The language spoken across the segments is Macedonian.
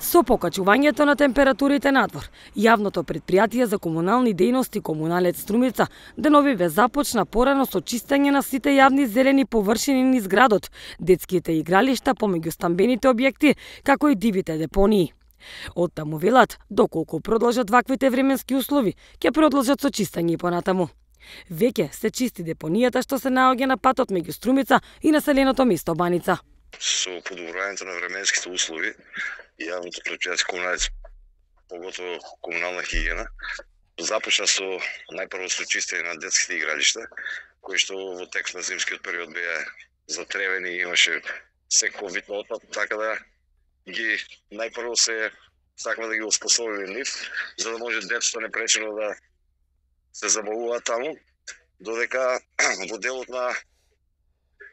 Со покачувањето на температурите надвор, јавното претпријатие за комунални дејности Комуналец Струмица деновиве започна порано со чистење на сите јавни зелени површини низ градот, детските игралишта помеѓу стамбените објекти, како и дивите депонии. Оттаму велат, доколку продолжат ваквите временски услови, ќе продолжат со чистење и понатаму. Веќе се чисти депонијата што се наоѓа на патот меѓу Струмица и населеното место Баница. Со подобрувањето на временските услови, јавното претпријатие Комуналец, поготово комунална хигиена, започна со најпрво со чистење на детските игралишта, кои што во текот на зимскиот период беа затревени и имаше секој вид на отпад, така да ги најпрво се сакаме да ги оспособиме нив, за да може децата непречено да се забавуваат таму, додека во делот на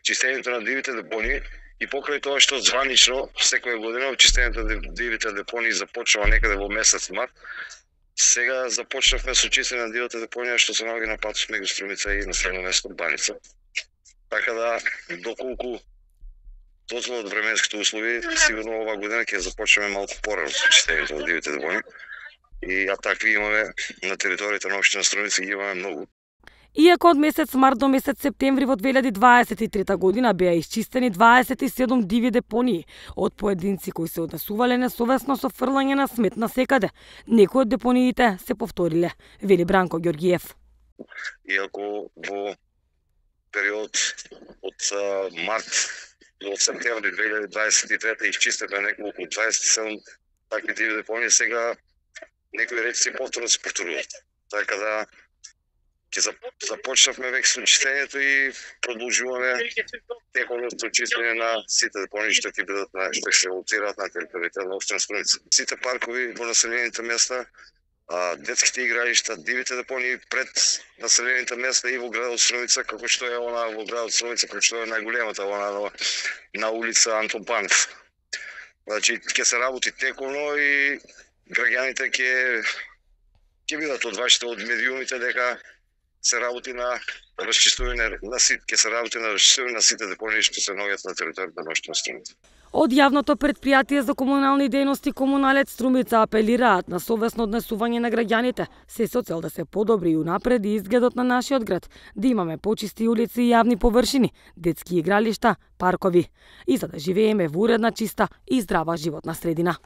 чистењето на дивите депонии и покрај тоа што званично секоја година чистењето на дивите депонии започнува некаде во месец март, сега започнавме со чистење на дивите депонија што се наоѓа на патот меѓу Струмица и населено место Баница. Така да, доколку дозволат временските услови, сигурно оваа година ќе започнеме малку порано со чистењето на дивите депонии. И такви имаме на територијата на општина Струмица, ги имаме многу. Иако од месец март до месец септември во 2023 година беа исчистени 27 диви депонии од поединци кои се однесувале несовесно со фрлање на смет насекаде, некои од депониите се повториле, вели Бранко Ѓорѓиев. Иако во период од март до септември 2023 исчистено неколку 27 такви диви депонии, сега некои речи повторно се повторуваат. Така да ќе започнавме веќе со чистењето и продолжуваме текот со чистење на сите депонии што ќе бидат што се лоцираат на територијата на општина Струмица. Сите паркови во населените места, детските игралишта, дивите депонии пред населените места и во градот Струмица, како што е она во градот Струмица, како што е најголемата она на улица Антон Панев. Значи ќе се работи тековно и граѓаните ќе бидат одвачени од медиумите дека се работи на расчистување на сите депонии што се наоѓаат на територијата на општина Струмица. Од јавното претпријатие за комунални дејности Комуналец Струмица апелираат на совесно однесување на граѓаните, се со цел да се подобри и унапреди изгледот на нашиот град, да имаме почисти улици и јавни површини, детски игралишта, паркови, и за да живееме во уредна, чиста и здрава животна средина.